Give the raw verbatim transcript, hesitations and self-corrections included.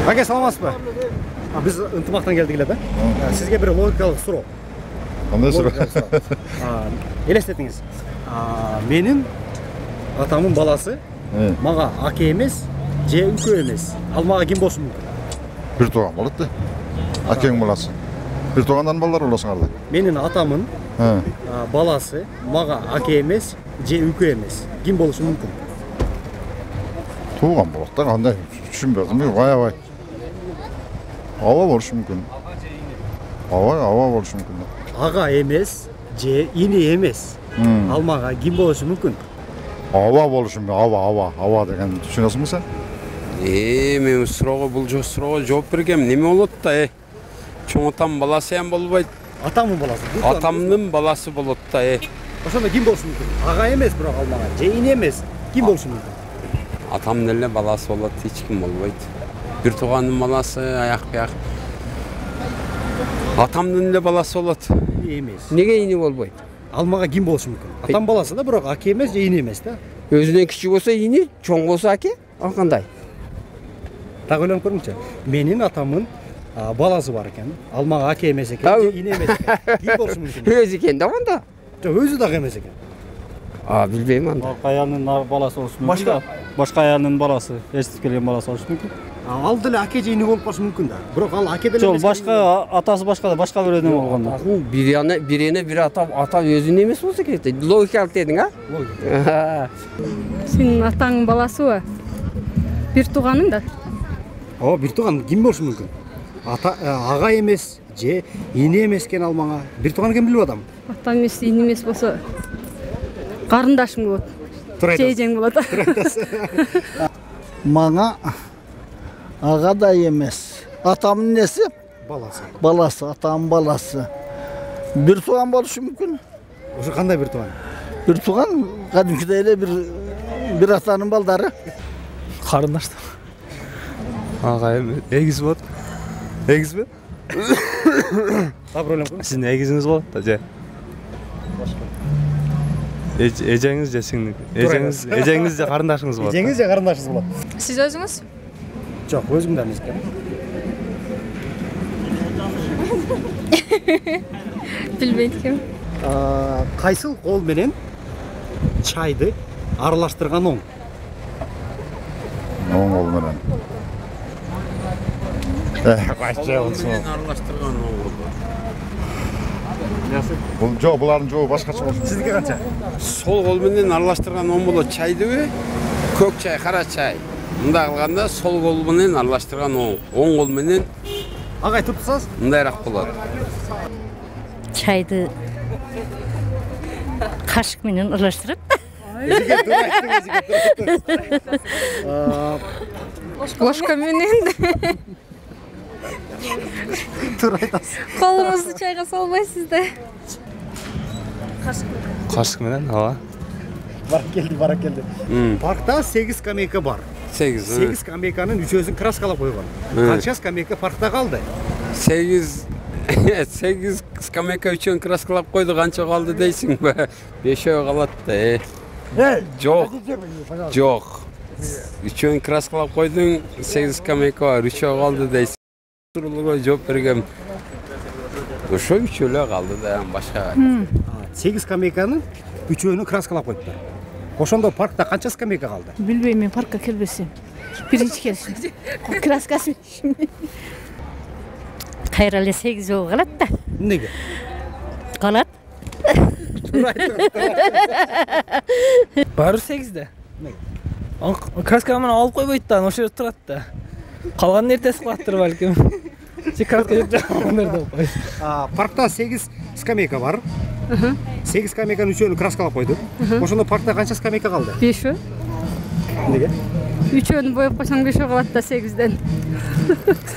Аке, саламатсызбы? Биз ынтымактан келдик эле да. Сизге бир логикалык суроо. Кандай суроо? Элестетиңиз. Менин атамдын баласы мага аке эмес, же үкө эмес. Ал мага ким болушу мүмкүн? Бир тууган болот да. Акең баласы. Бир туугандан балдар болосуңар да. Менин атамдын баласы мага аке эмес, же үкө эмес. Ким болушу мүмкүн? Тууган болот да, кандай түшүнбөдүм. Аябай. Аба болушу мүмкүн. Аба, аба болушу мүмкүн. Ага эмес, же ини эмес. Ал мага ким болушу мүмкүн? Аба болушу мүмкүн. Аба, аба, аба деген түшүнөсүңбү сен? Э, мен суроого бул суроого жооп бергем. Неме болот да, э? Чоң атам баласы эм болбойт. Атамдын баласы. Атамдын баласы болот да, э. Ошондо ким болушу мүмкүн? Ага эмес, бирок ал мага, же ини эмес. Ким болушу мүмкүн? Атамдын эле баласы болот, эч ким болбойт. Бир туугандын баласы аяк бияк. Атамдын эле баласы болот. Эмес. Неге ини болбойт? Ал мага ким болушу мүмкүн? Атам баласы да, бирок аке эмес, же ини эмес да. Өзүнөн кичи болсо ини, чоң болсо аке. Ал кандай? Так ойлонуп көрүңчү. Менин атамдын баласы бар экен. Ал мага аке эмес экен, же ини эмес экен. Ким болушу мүмкүн? Өзү экен да анда. Жок, өзү дагы эмес экен. А, билбейм анда. Башка аялдын баласы болушу мүмкүн. Башка башка аялдын баласы, эстип келген баласы болушу мүмкүн. Ал деле аке же ини болуп калышы мүмкүн да. Бирок ал аке деле Жок, эмес. башка атасы башка да, башка бирөөдөн болгондо. Бирине бирине бир ата ата өзүнүн эмес болсо керек. Логикалык дедиң, а? Логика. Сенин атаңдын баласыбы? Бир тууганың да. О, бир тууган ким болушу мүмкүн? Ата ага эмес, же ини эмес экен ал мага. Бир тууган ким билип атам? Ата эмес, ини эмес болсо карындашым болот. Жейжең болот. Мага ага да эмес. Атамдын неси? Баласы. Баласы, атамдын баласы. Бир тууган болушу мүмкүн. Ошо кандай бир тууган? Бир тууган кадимкидей эле бир бир атанын балдары. Карындаштар. Ага эми эгиз болот. Эгизби? Так ойлонуп көрүң. Сиздин эгизиңиз болот да, же? Эжеңиз же сиңдики? Эжеңиз, эжеңиз же карындашыңыз болот. Эжеңиз же карындашыңыз болот. Сиз өзүңүз? Жок, өзүм да эмес экен. Билбейт экенмин. Кайсыл кол менен чайды аралаштырган оң? Оң кол менен. Кайсы болсун? Аралаштырган оң. Бул жок, булардын жообу башкача болушу. Сиздики канча? Сол кол менен аралаштырган оң болот. Чайдыбы? Көк чай, кара чай. Мындай кылганда сол кол менен аралаштырган оң. Оң кол менен Ага айтып турсаңыз? мындайраак болот. Чайды кашык менен аралаштырып. Өзүгө туура айттың, өзүгө туура. Ложка менен. Туура айтасыз. Колуңузду чайга салбайсыз да. Кашык менен, ооба. Барып келди, барып келди. Паркта сегиз скамейка бар. сегиз. сегиз скамейканын үчөөсүн краскалап койгон. Канча скамейка паркта калды? сегиз сегиз скамейка үчөөн краскалап койду, канча калды дейсиңби? бешөө калат да. Жок. Жок. Үчөөн краскалап койдуң, сегиз скамейка бар, үчөө калды дейсиң. Суроолорго жооп бергем. Ошо үчөө эле калды да, башка. сегиз скамейканын үчөөнү краскалап койдуптар. Ошондо паркта канча скамейка калды? Билбейм, мен паркка келбесем. Биринчи келишим. Краскасы. Кайра эле сегиз жолу калат да. Эмнеге? Калат. Баары сегизде. Краска менен алып койбойт да, ошо жерде турат да. Калганын эртеси кылаттыр балким. Же краска жеп жагандыр деп кой. Паркта сегиз скамейка бар. сегиз скамейканын үчөөнү краскалап койду. Ошондо паркта канча скамейка калды? бешөө. Эмнеге? Үчөөнү боеп койсоң бешөө калат да сегизден.